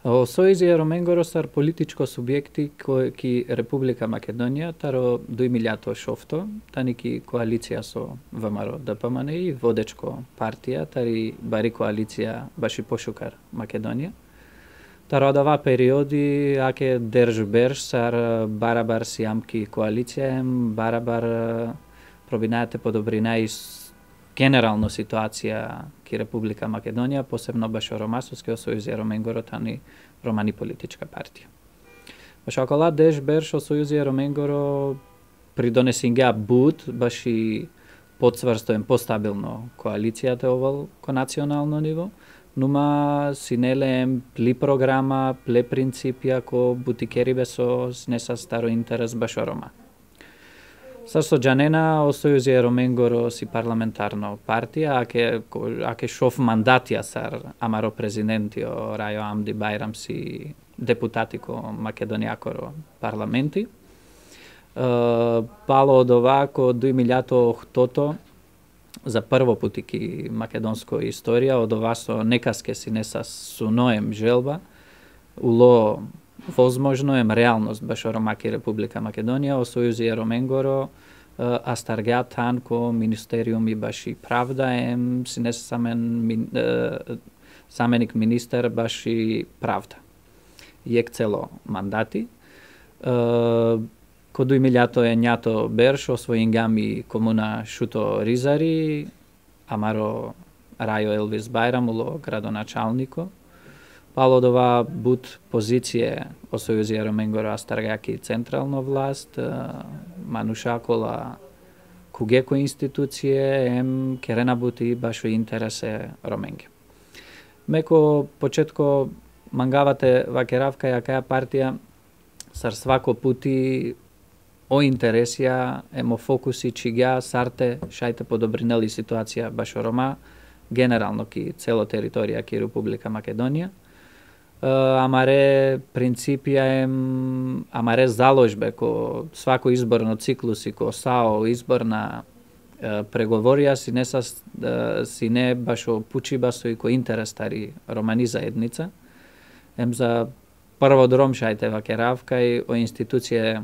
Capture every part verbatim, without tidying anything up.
O Сојузи Ероменгоро сар политичко субјекти кои ки Република Македонија таро две милјади и шесто, тани ки коалиција со ВМРО ДПМН и водечко партија, тари бари коалиција баши пошукар Македонија. Таро одава периоди аке держ берш сар барабар сиамки коалиција, барабар пробинајате подобрина и генерално ситуација ки Република Македонија, посебно баш Ромасовскиот сојуз Ероменгоро тани промани политичка партија. Баш окола деш берш о сојуз Ероменгоро придонесингеа буд баш и подсврстоен постабилно коалицијата овал ко национално ниво, нума синелеем пли програма, пле принципија ко бутикерибе со не са старо интерес баш о Рома. Сар со Џанена о Сојузи Ероменгоро си парламентарно партија, аке, аке шов мандатија сар амаро президентио Рајо Амди Бајрам си депутати ко Македонијакоро парламенти. Пало од ова ко две милјади и осмо за прво пути ки македонско историја, од ова со некаске си не са суноем желба, уло возможно ем реалност баш о Ромаки Република Македонија, о Сојузи Ероменгоро, а старгеа тан ко Министериум и баш и правда ем си не самен заменик министер баш и правда. Јек цело мандати. Ко две милјади е њато берш освоингами комуна Шуто Ризари, амаро Рајо Елвис Бајрам уло градоначалнико. Пало од ова буд позиција о Сојузи Ероменгоро астаргаки централно власт, манушакола кугеко институције, ем керена бути баш о интересе Роменге. Меко почетко мангавате вакеравка јакаја партија сар свако пути о интересија емо фокуси чига сарте шајте подобринели ситуација баш о Рома, генерално ки цело територија ки Република Македонија. Амаре принципија ем, амаре заложбе ко свако изборно циклуси ко САО изборна преговорија си не са си не баш о пучиба со и ко интерес тари романи заедница. Ем за прво дром шајте вакеравка и о институције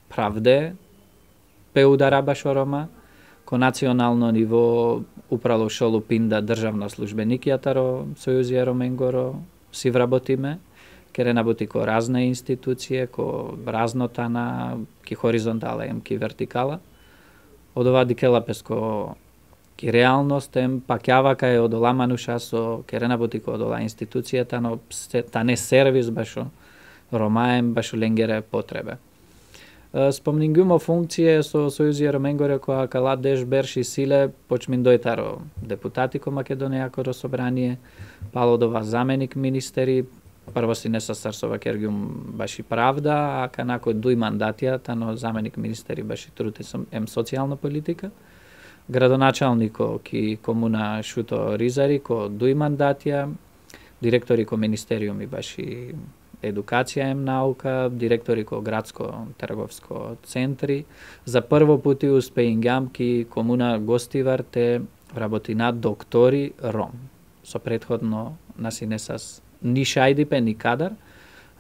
правде пе удара баш о Рома, ко национално ниво управо шолу пинда државна службеникија таро Сојузи Ероменгоро си вработиме, ке работи ко разна институције, ко разнотана, ки хоризонтала ем ки вертикала. Од ова дикелапес ко ки реалност ем пакјава кај од ола мануша со ке работи ко од ола институцијата, но та не сервис башо Рома ем башо ленгере потребе. Спомнингумо функције со Сојузи Ероменгоро која кала деш берши силе почмин дојтаро депутати ко Македонијакоро собрание, пало од ова заменик министери, прво си не са сарсова кергиум баши правда, а канако дуј мандатија, тано заменик министери баши труд ем социјална политика, градоначалнико ки комуна Шуто Ризари ко дуј мандатија, директори ко министериуми баши едукација ем наука, директори ко градско трговско центри. За прво пути успеингам ки комуна Гостивар те работи на доктори Ром. Со претходно наси не сас ни шајдипе, ни кадар,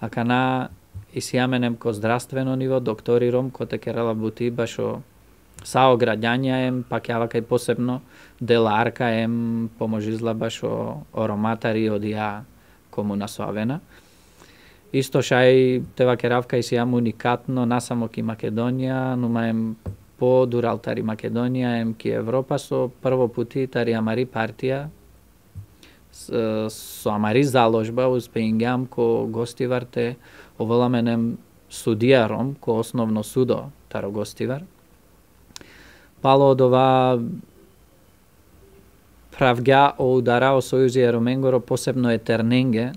а кана и сијаменем ко здравствено ниво доктори Ром, ко те керала бути башо сао граѓања ем, пак јава кај посебно деларка ем, поможизла башо о роматари од ја комуна Соавена. Исто шај тева керавка и сијам уникатно насамо ки Македонија, нума ем по дуралтари Македонија, ем ки Европа со прво пути тари амари партија со амари заложба успеингам ко Гостивар те оволаменем судија Ром, ко основно судо таро Гостивар. Пало од ова правга о удара о Сојузи Ероменгоро, посебно е Терненге,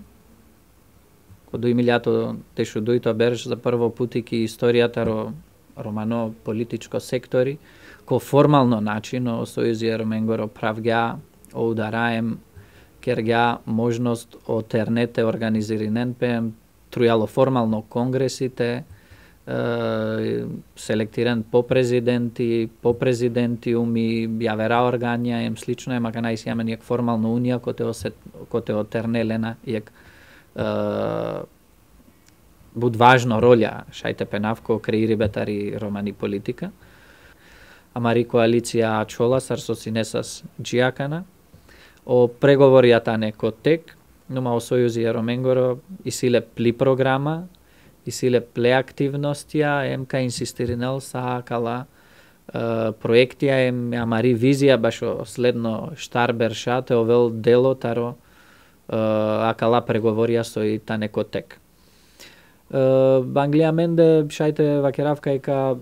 ко две милјади тешу дојто берш за прво пути ки историјата ро романо политичко сектори, ко формално начин о Сојузи Ероменгоро правга о удараем кергја можност о тернете организиринен пем трујало формално конгресите, селектиран по президенти, по президентиуми, јавера органија, ем слично е, мака најсијамен јак формално унија, коте, осет, коте отернелена јак буд важно роля шајте пенавко креири бетари романи политика. Амари коалиција чола сар со синесас джиакана. О преговоријата не котек, нума о сојузи Ероменгоро и силе пли програма, и силе пле активностија, емка инсистиринел са кала проектија ем амари визија башо следно штарберша те овел дело таро акала преговорија со и тане котек. Банглија менде шајте вакеравка ека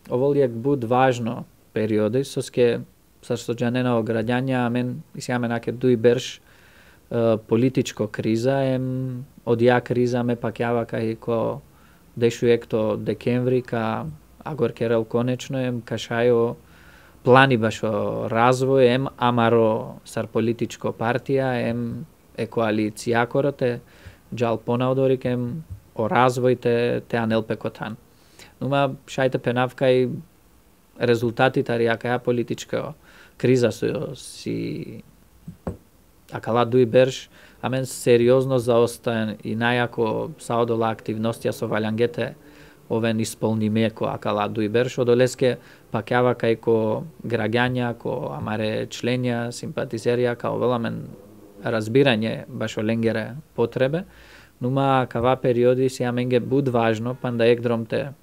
оволјек буд важно периоди соске сар со джанена ограѓања мен исјаме наке дуи берш политичко криза ем одја криза ме пакјава кај ко дешуек то декември ка агор керел конечно ем кашајо плани башо развој ем амаро сар политичко партија ем е коалицијакоро те джал понаодорик ем о развој те те анелпе котан. Нума шајте пенавка и резултатите аријака ја политичка криза со си акала дуи берш, а мен сериозно заостаен и најако саодола активностија со валјангете овен исполниме ко акала дуи берш, одолеске пакјава кај ко граѓања, ко амаре членја, симпатизерија, као веламен разбирање башо ленгере потребе, нума кава периоди сија менге буд важно, панда егдром те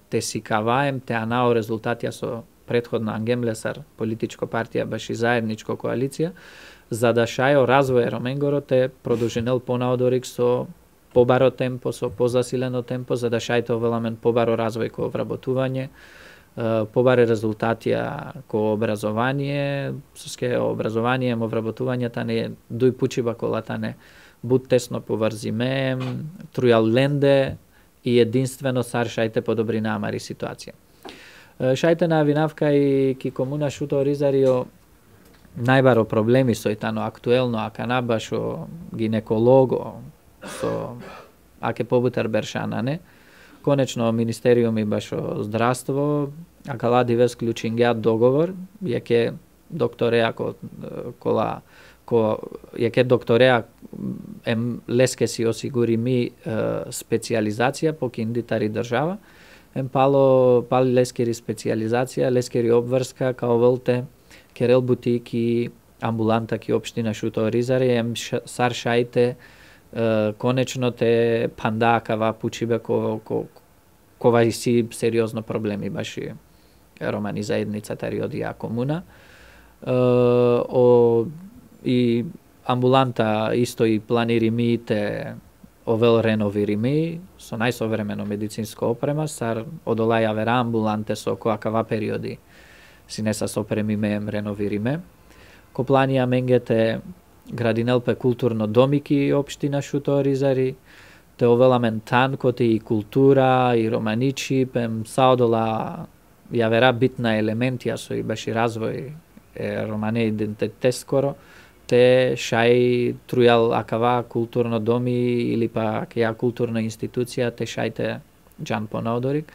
те си каваем, те анао резултатија со претходна ангемлесар политичко партија баши заедничко коалиција, за да шајо развој Ероменгоро те продолжинел понаодорик со побаро темпо, со позасилено темпо, за да шајте овеламен побаро развој ко вработување, побаре резултатија ко образование, соске образование, мо вработувањата не дуј пучиба колата не буд тесно поврзиме, трујал ленде и единствено сар шајте подобрина амари ситуација. Шајте на винавка и ки комуна шуто ризарио најбаро проблеми со итано актуелно ака башо гинеколого со аке побутар бершана не. Конечно министериуми башо здравство акала дивес клучингеат договор јаке доктореа ко кола ко јаке доктореа ем леске си осигури ми специјализација по киндитари држава ем пало пали лескери специјализација лескери обврска као велте керел бутик и амбуланта ки општина Шуто Ризари ем сар шајте конечно те панда кава пучибе ко ко кова си сериозно проблеми баши романи заедницата риодија комуна о и амбуланта исто и планирими те овел реновирими со најсовремено медицинско опрема сар одолаја вера амбуланте со коакава периоди си не са сопремиме реновириме. Ко планија менгете градинелпе културно домики општина Шуто Ризари, те овеламен тан коти и култура и романичи, пем саодола ја вера битна елементија со и баши развој е романе идентитет скоро, те шај трујал акава културно доми или пак ја културна институција, те шајте джан понаодорик.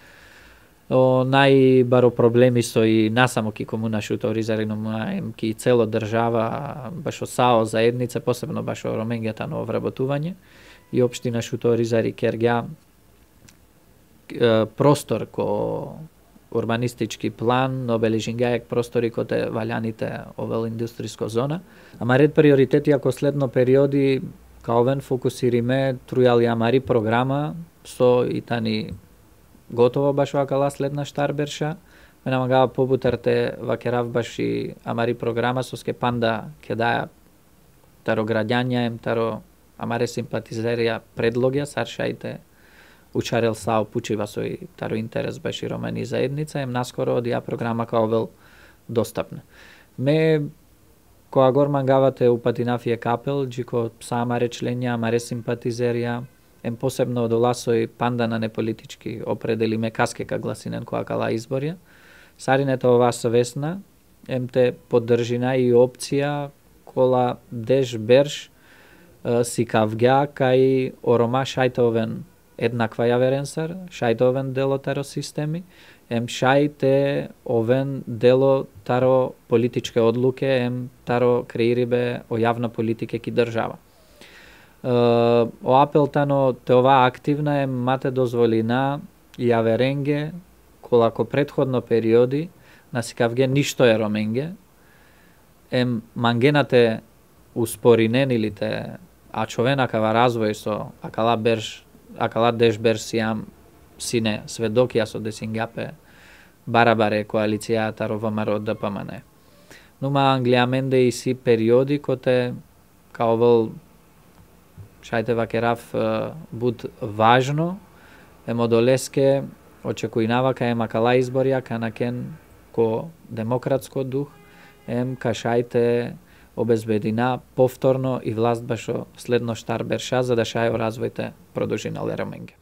О најбаро проблеми со и насамо ки комуна Шуто Ризари, но ки цело држава башо сао заедница, посебно башо роменгета на вработување и општина Шуто Ризари кергја простор ко урбанистички план, обележингајак простори коте валјаните овел индустриско зона. Ама ред приоритети ако следно периоди каовен фокусириме трујал јамари програма со итани готово баш вакала следна штарберша. Ме намагава побутарте вакерав баш и амари програма со ске панда ке даја таро граѓања ем таро амаре симпатизерија предлогја саршајте учарел сао пучива со и таро интерес баш и романи заедница ем наскоро одија програма као вел достапна. Ме која гор мангавате упатинафие капел, джико са амаре членја, амаре симпатизерија, ем посебно од оласој панда на неполитички определи ме каскека гласинен која кала изборја. Саринето ова свесна, ем те поддржина и опција кола деш берш си кавгја кај орома шајтовен еднаква јаверенсар, шајтовен дело таро системи, ем шајте овен дело таро политичке одлуке, ем таро креирибе о јавна политика ки држава. O апелтано това активна е мате дозволина јаверенге колако предходно периоди на сикавге ништо е роменге, ем мангенате успориненилите а човена кава развој со акала берш акала деш берсијам сине сведокија со десингапе барабаре коалицијата ровамаро ДПМН. Нума англиаменде и си периоди коте као вол шајте вакерав буд важно е модолеске очекујнава ка ема кала изборија канакен ко демократско дух ем ка шајте обезбедина повторно и власт башо следно штар берша за да шајо развојте продолжинале роменге.